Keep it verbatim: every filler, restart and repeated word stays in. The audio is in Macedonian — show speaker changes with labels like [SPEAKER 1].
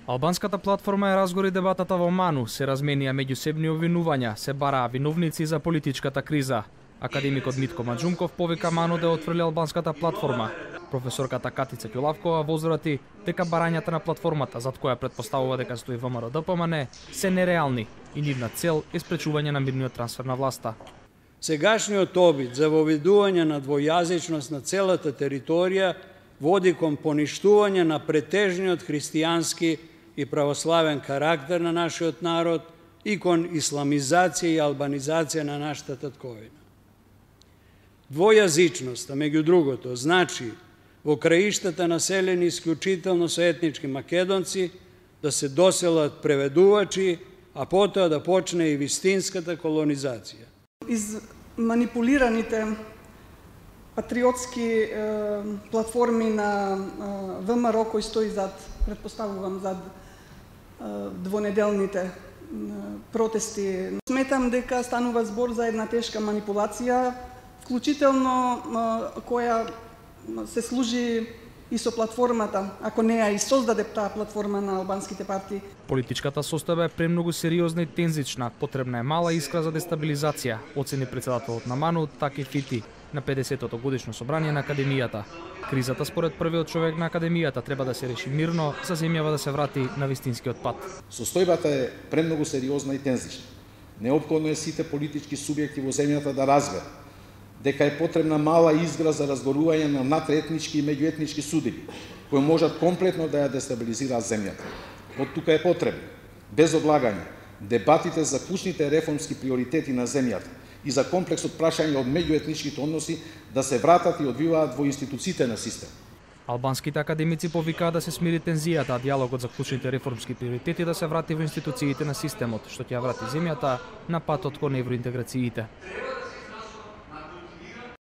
[SPEAKER 1] Албанската платформа е разгори дебатата во Ману, се разменија меѓусебни обвинувања, се бараа виновници за политичката криза. Академикот Митко Маџумков повика Ману да отфрли албанската платформа. Професорката Катица Ќулавкова возврати дека барањата на платформата, зад која претпоставува дека стои ВМРО Д П М Н, се нереални и нивна цел е спречување на мирниот трансфер на власта.
[SPEAKER 2] Сегашниот обид за воведување на двојазичност на целата територија води кон поништување на претежниот христијански и православен карактер на нашиот народ и кон исламизација и албанизација на нашата татковина. Двојазичноста, меѓу другото, значи во краиштата населени исклучително со етнички македонци да се доселат преведувачи, а потоа да почне и вистинската колонизација.
[SPEAKER 3] Из манипулираните патриотски е, платформи на е, ВМРО кој стои зад, предпоставувам, зад е, двонеделните е, протести. Сметам дека станува збор за една тешка манипулација, вклучително е, која се служи и со платформата, ако не ја и создаде таа платформа на албанските партии.
[SPEAKER 1] Политичката состојба е премногу сериозна и тензична, потребна е мала искра за дестабилизација, оцени претседателот на Ману Таки Фити на педесетото годишно собрание на Академијата. Кризата според првиот човек на Академијата треба да се реши мирно, за земјава да се врати на вистинскиот пат.
[SPEAKER 4] Состојбата е премногу сериозна и тензична. Неопходно е сите политички субјекти во земјата да разберат дека е потребна мала изгра за разгорување на надетнички и меѓуетнички судиби, кои можат комплетно да ја дестабилизираат земјата. Од тука е потребно, без одлагање, дебатите за клучните реформски приоритети на земјата и за комплексот прашање од меѓуетничките односи да се вратат и одвиваат во институциите на систем.
[SPEAKER 1] Албанските академици повикаа да се смири тензијата, а диалогот за клучните реформски приоритети да се врати во институциите на системот, што ќе ја врати земјата на патот кон евроинтеграциите.